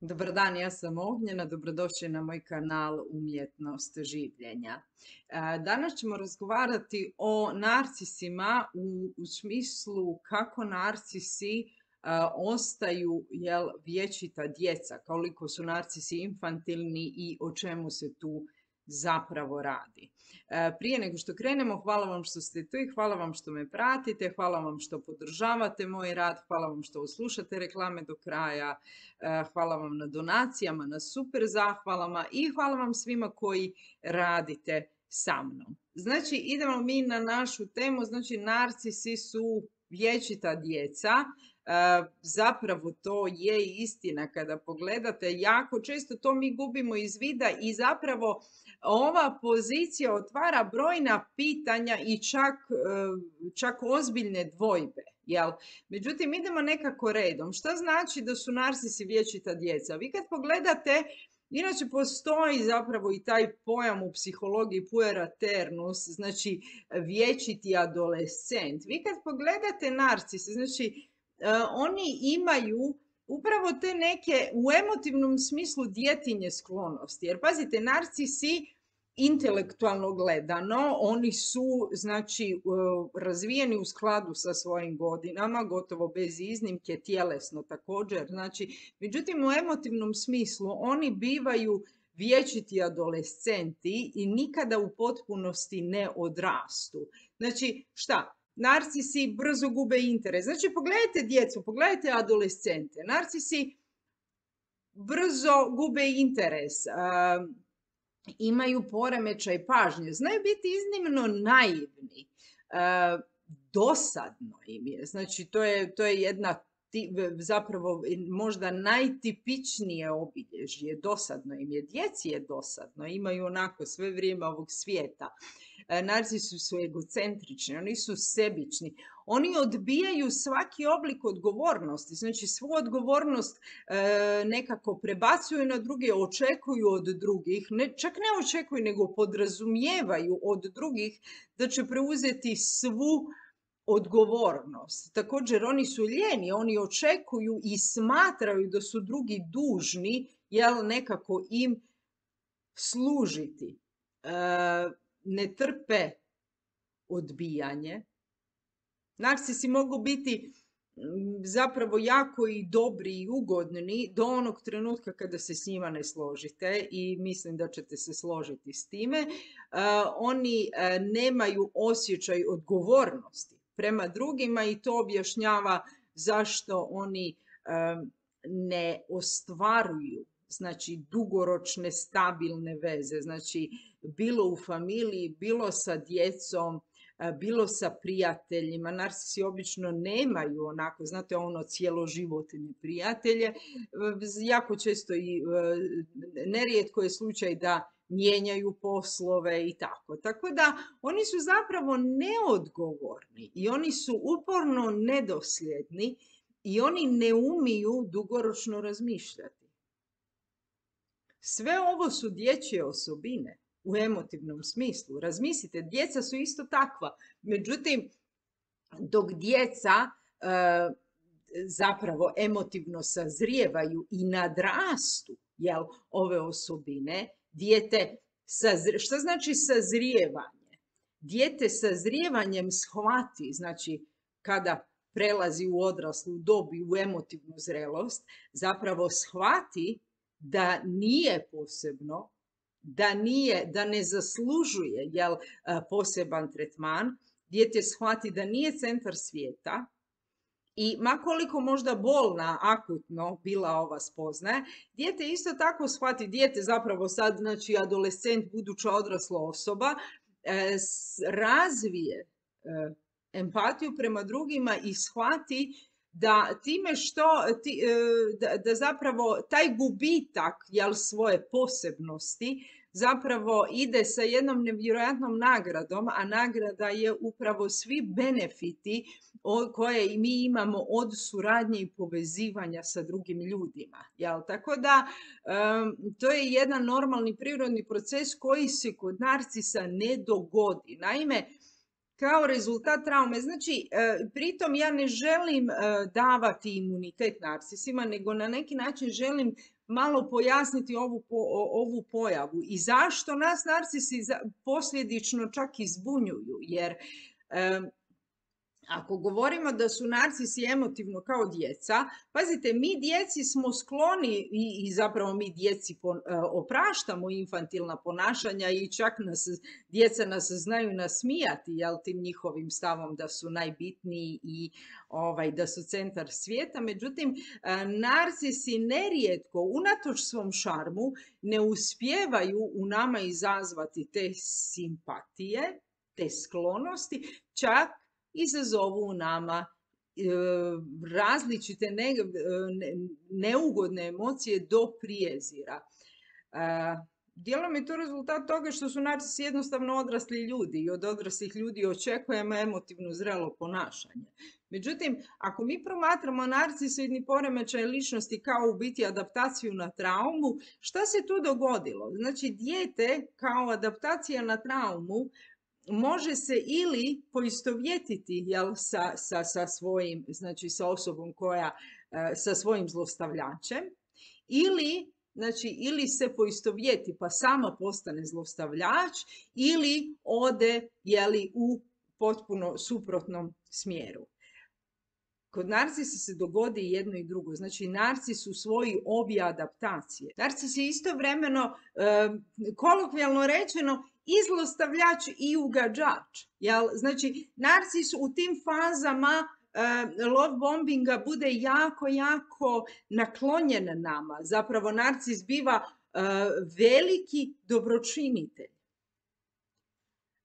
Dobar dan, ja sam Ognjena, dobrodošli na moj kanal Umjetnost življenja. Danas ćemo razgovarati o narcisima u smislu kako narcisi ostaju vječita djeca, koliko su narcisi infantilni i o čemu se tu zapravo radi. Prije nego što krenemo, hvala vam što ste tu i hvala vam što me pratite, hvala vam što podržavate moj rad, hvala vam što slušate reklame do kraja, hvala vam na donacijama, na super zahvalama i hvala vam svima koji radite sa mnom. Znači, idemo mi na našu temu, znači narcisi su vječita djeca. Zapravo to je istina kada pogledate, jako često to mi gubimo iz vida i zapravo ova pozicija otvara brojna pitanja i čak ozbiljne dvojbe. Jel? Međutim, idemo nekako redom. Šta znači da su narcisi vječita djeca? Vi kad pogledate, inače postoji zapravo i taj pojam u psihologiji pueraternus, znači vječiti adolescent. Vi kad pogledate narcise, znači oni imaju upravo te neke u emotivnom smislu djetinje sklonosti. Jer pazite, narcisi intelektualno gledano, oni su znači razvijeni u skladu sa svojim godinama, gotovo bez iznimke, tjelesno također. Znači, međutim, u emotivnom smislu oni bivaju vječiti adolescenti i nikada u potpunosti ne odrastu. Znači, šta? Narcisi brzo gube interes. Znači, pogledajte djecu, pogledajte adolescente. Narcisi brzo gube interes, imaju poremećaj pažnje, znaju biti iznimno naivni, dosadno im je. Znači, to je jedna zapravo možda najtipičnije obilježje. Dosadno im je. Djeci je dosadno, imaju onako sve vrijeme ovog svijeta. Narcisi su egocentrični, oni su sebični, oni odbijaju svaki oblik odgovornosti, znači svu odgovornost nekako prebacuju na druge, očekuju od drugih, čak ne očekuju nego podrazumijevaju od drugih da će preuzeti svu odgovornost. Također oni su lijeni, oni očekuju i smatraju da su drugi dužni nekako im služiti. Ne trpe odbijanje. Narcisi mogu biti zapravo jako i dobri i ugodni do onog trenutka kada se s njima ne složite i mislim da ćete se složiti s time. Oni nemaju osjećaj odgovornosti prema drugima i to objašnjava zašto oni ne ostvaruju znači dugoročne stabilne veze, znači bilo u familiji, bilo sa djecom, bilo sa prijateljima. Narcisi obično nemaju onako, znate, ono cjeloživotne prijatelje. Jako često i nerijetko je slučaj da mijenjaju poslove i tako. Tako da oni su zapravo neodgovorni i oni su uporno nedosljedni i oni ne umiju dugoročno razmišljati. Sve ovo su dječje osobine u emotivnom smislu. Razmislite, djeca su isto takva. Međutim, dok djeca zapravo emotivno sazrijevaju i nadrastu ove osobine, šta znači sazrijevanje? Dijete sazrijevanjem shvati, znači kada prelazi u odraslu dob i u emotivnu zrelost, zapravo shvati da nije posebno, da ne zaslužuje poseban tretman. Dijete shvati da nije centar svijeta i ma koliko možda bolna, akutno bila ova spoznaja, dijete isto tako shvati, dijete zapravo sad, znači adolescent, buduća odrasla osoba, razvije empatiju prema drugima i shvati da time što, da zapravo taj gubitak svoje posebnosti zapravo ide sa jednom nevjerojatnom nagradom, a nagrada je upravo svi benefiti koje mi imamo od suradnje i povezivanja sa drugim ljudima. Tako da to je jedan normalni prirodni proces koji se kod narcisa ne dogodi. Naime, kao rezultat traume. Znači, pritom ja ne želim davati imunitet narcisima, nego na neki način želim malo pojasniti ovu pojavu i zašto nas narcisi posljedično čak i zbunjuju. Jer ako govorimo da su narcisi emotivno kao djeca, pazite, mi djeci smo skloni i zapravo mi djeci opraštamo infantilna ponašanja i čak djeca nas znaju nasmijati, jel, tim njihovim stavom da su najbitniji i da su centar svijeta. Međutim, narcisi nerijetko, unatoč svom šarmu, ne uspijevaju u nama izazvati te simpatije, te sklonosti, čak izazovu u nama različite neugodne emocije do prijezira. Dijelom je to rezultat toga što su narcisi jednostavno odrasli ljudi i od odraslih ljudi očekujemo emotivno zrelo ponašanje. Međutim, ako mi promatramo narcisoidni poremećaj ličnosti kao u biti adaptaciju na traumu, šta se tu dogodilo? Znači, dijete kao adaptacija na traumu može se ili poistovjetiti, jel, sa svojim, znači sa osobom koja, sa svojim zlostavljačem, ili se poistovjeti pa sama postane zlostavljač, ili ode, jeli, u potpuno suprotnom smjeru. Kod narcisa se dogodi jedno i drugo. Znači, narcis usvoji obje adaptacije. Narcis je istovremeno, kolokvijalno rečeno, i zlostavljač i ugađač. Znači, narcis u tim fazama love bombinga bude jako, jako naklonjen nama. Zapravo, narcis biva veliki dobročinitelj.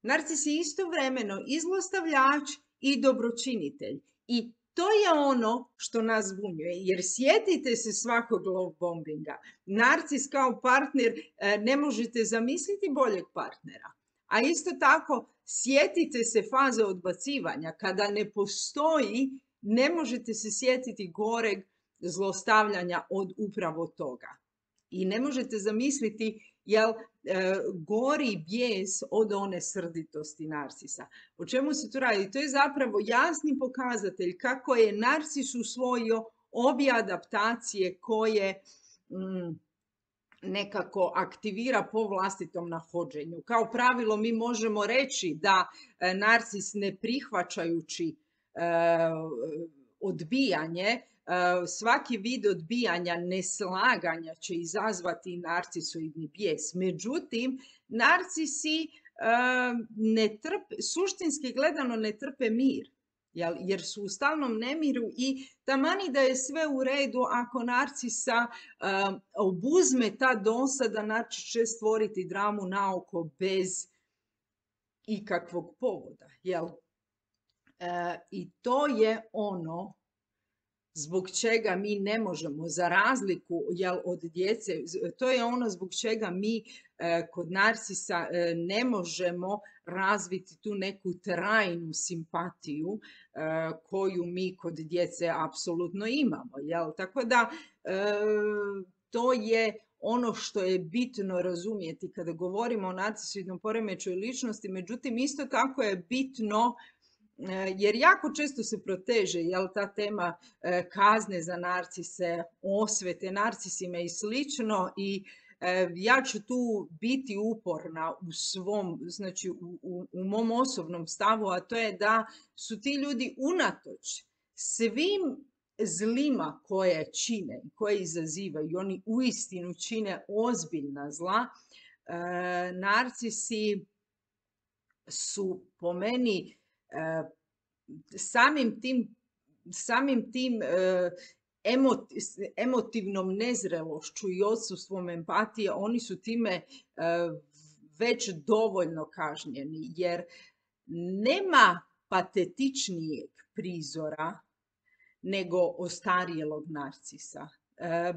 Narcis je istovremeno i zlostavljač i dobročinitelj. I to je ono što nas zbunjuje, jer sjetite se svakog love bombinga. Narcis kao partner, ne možete zamisliti boljeg partnera. A isto tako, sjetite se faze odbacivanja. Kada ne postoji, ne možete se sjetiti goreg zlostavljanja od upravo toga. I ne možete zamisliti gori bijes od one srditosti narcisa. O čemu se tu radi? To je zapravo jasni pokazatelj kako je narcis usvojio obje adaptacije koje nekako aktivira po vlastitom nahođenju. Kao pravilo mi možemo reći da narcis ne prihvaćajući odbijanje, svaki vid odbijanja, neslaganja će izazvati narcisoidni bijes. Međutim, narcisi suštinski gledano ne trpe mir, jer su u stalnom nemiru i tamani da je sve u redu, ako narcisa obuzme ta dosada, narcis će stvoriti dramu naoko bez ikakvog povoda. I to je ono zbog čega mi ne možemo, za razliku od djece, to je ono zbog čega mi kod narcisa ne možemo razviti tu neku trajnu simpatiju koju mi kod djece apsolutno imamo. Tako da to je ono što je bitno razumjeti kada govorimo o narcisoidnom poremećaju ličnosti. Međutim, isto tako je bitno, jer jako često se proteže ta tema kazne za narcise, osvete narcisima i slično, i ja ću tu biti uporna u svom, znači u mom osobnom stavu, a to je da su ti ljudi unatoč svim zlima koje čine, koje izazivaju, oni uistinu čine ozbiljna zla, narcisi su po meni samim tim emotivnom nezrelošću i odsustvom empatije, oni su time već dovoljno kažnjeni, jer nema patetičnijeg prizora nego ostarijelog narcisa.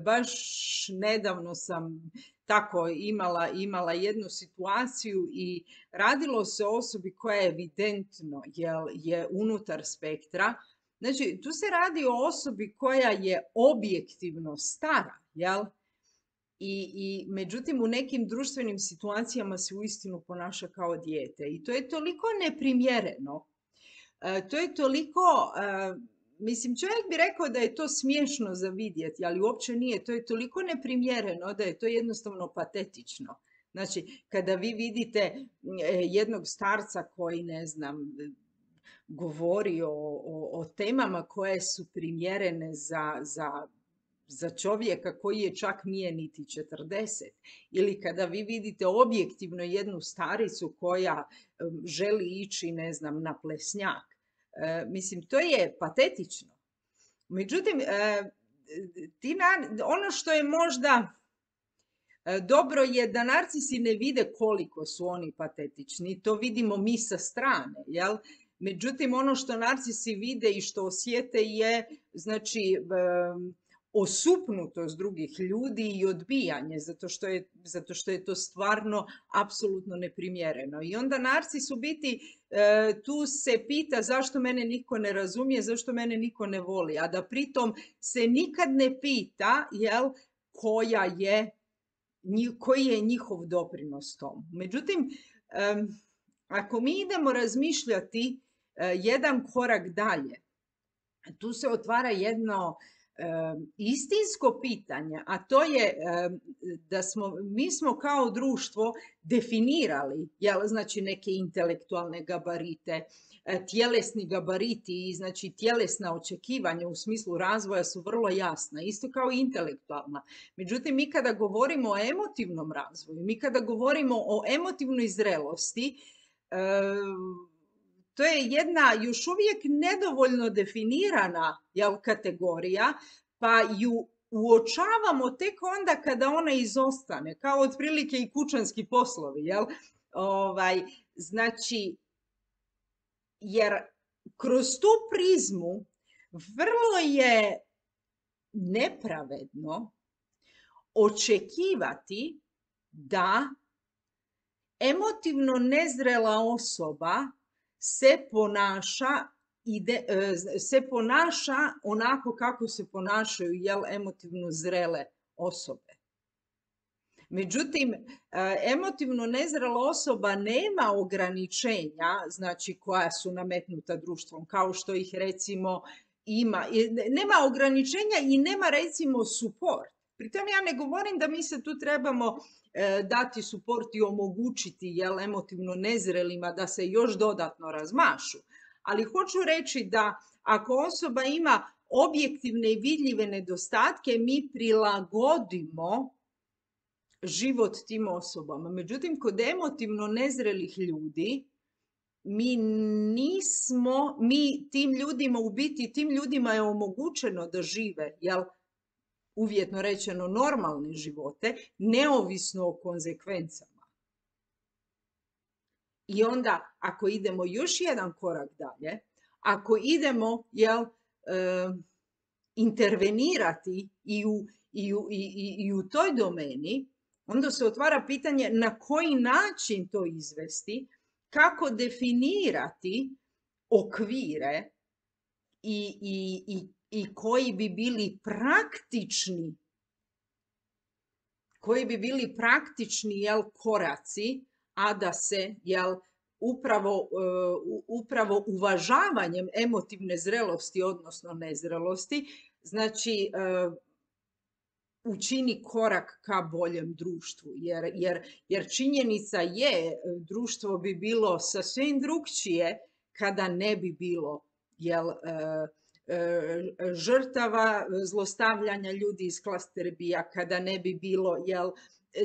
Baš nedavno sam tako imala jednu situaciju i radilo se o osobi koja je evidentno je unutar spektra. Znači, tu se radi o osobi koja je objektivno stara, I međutim, u nekim društvenim situacijama se uistinu ponaša kao dijete. I to je toliko neprimjereno, to je toliko mislim, čovjek bi rekao da je to smiješno za vidjeti, ali uopće nije. To je toliko neprimjereno da je to jednostavno patetično. Znači, kada vi vidite jednog starca koji, ne znam, govori o temama koje su primjerene za čovjeka koji je čak nije niti 40. Ili kada vi vidite objektivno jednu staricu koja želi ići, ne znam, na plesnjak. Mislim, to je patetično. Međutim, ono što je možda dobro je da narcisi ne vide koliko su oni patetični. To vidimo mi sa strane, jel? Međutim, ono što narcisi vide i što osjete je, znači, osupnutost drugih ljudi i odbijanje, zato što je to stvarno apsolutno neprimjereno. I onda narcis u biti tu se pita zašto mene niko ne razumije, zašto mene niko ne voli, a da pritom se nikad ne pita, jel, koji je njihov doprinos tom. Međutim, ako mi idemo razmišljati jedan korak dalje, tu se otvara jedno istinsko pitanje, a to je da mi smo kao društvo definirali, znači, neke intelektualne gabarite, tjelesni gabariti i, znači, tjelesna očekivanja u smislu razvoja su vrlo jasna, isto kao i intelektualna. Međutim, mi kada govorimo o emotivnom razvoju, mi kada govorimo o emotivnoj zrelosti, to je jedna još uvijek nedovoljno definirana, jel, kategorija, pa ju uočavamo tek onda kada ona izostane, kao otprilike i kućanski poslovi, jel? Znači, jer kroz tu prizmu vrlo je nepravedno očekivati da emotivno nezrela osoba se ponaša onako kako se ponašaju, jel, emotivno zrele osobe. Međutim, emotivno nezrela osoba nema ograničenja, znači, koja su nametnuta društvom, kao što ih, recimo, ima. Nema ograničenja i nema, recimo, suport. Pritom ja ne govorim da mi se tu trebamo dati suport i omogućiti, jel, emotivno nezrelima da se još dodatno razmašu. Ali hoću reći da ako osoba ima objektivne i vidljive nedostatke, mi prilagodimo život tim osobama. Međutim, kod emotivno nezrelih ljudi, tim ljudima je omogućeno da žive, jel, uvjetno rečeno, normalne živote, neovisno o konzekvencama. I onda, ako idemo još jedan korak dalje, ako idemo, jel, intervenirati i u toj domeni, onda se otvara pitanje na koji način to izvesti, kako definirati okvire i koji bi bili praktični, jel, koraci, a da se, jel, upravo uvažavanjem emotivne zrelosti, odnosno nezrelosti, znači, učini korak ka boljem društvu. Jer činjenica je, društvo bi bilo sasvim drukčije kada ne bi bilo, jel, žrtava zlostavljanja ljudi iz klasterbija, kada ne bi bilo, jel,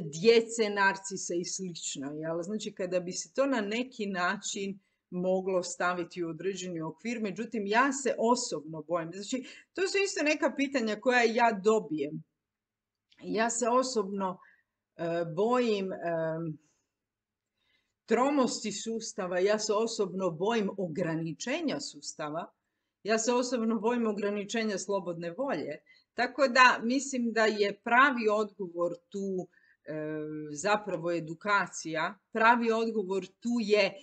djece, narcisa i slično. Jel? Znači, kada bi se to na neki način moglo staviti u određeni okvir, međutim, ja se osobno bojim. Znači, to su isto neka pitanja koja ja dobijem. Ja se osobno bojim tromosti sustava, ja se osobno bojim ograničenja sustava, ja se osobno bojim ograničenja slobodne volje. Tako da mislim da je pravi odgovor tu zapravo edukacija, pravi odgovor tu je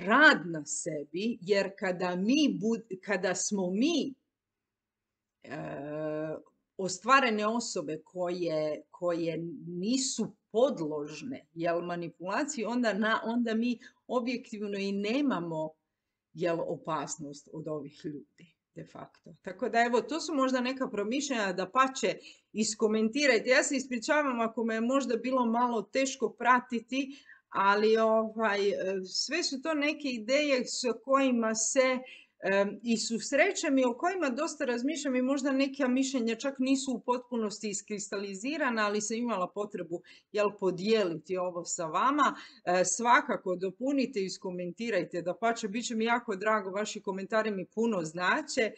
rad na sebi, jer kada smo mi ostvarene osobe koje nisu podložne, jel, manipulaciji, onda mi objektivno i nemamo, jel opasnost od ovih ljudi de facto. Tako da evo, to su možda neka promišljanja, da pače iskomentirajte. Ja se ispričavam ako me je možda bilo malo teško pratiti, ali sve su to neke ideje s kojima se i susrećem i o kojima dosta razmišljam i možda neka mišljenja čak nisu u potpunosti iskristalizirana, ali sam imala potrebu podijeliti ovo sa vama. Svakako dopunite i iskomentirajte, dapače, bit će mi jako drago, vaši komentari mi puno znače.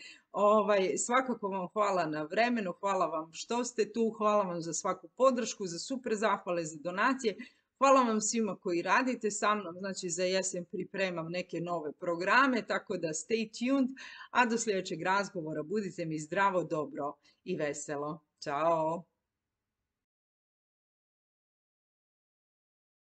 Svakako vam hvala na vremenu, hvala vam što ste tu, hvala vam za svaku podršku, za super zahvale, za donacije. Hvala vam svima koji radite sa mnom, znači za jesen pripremam neke nove programe, tako da stay tuned, a do sljedećeg razgovora budite mi zdravo, dobro i veselo. Ćao!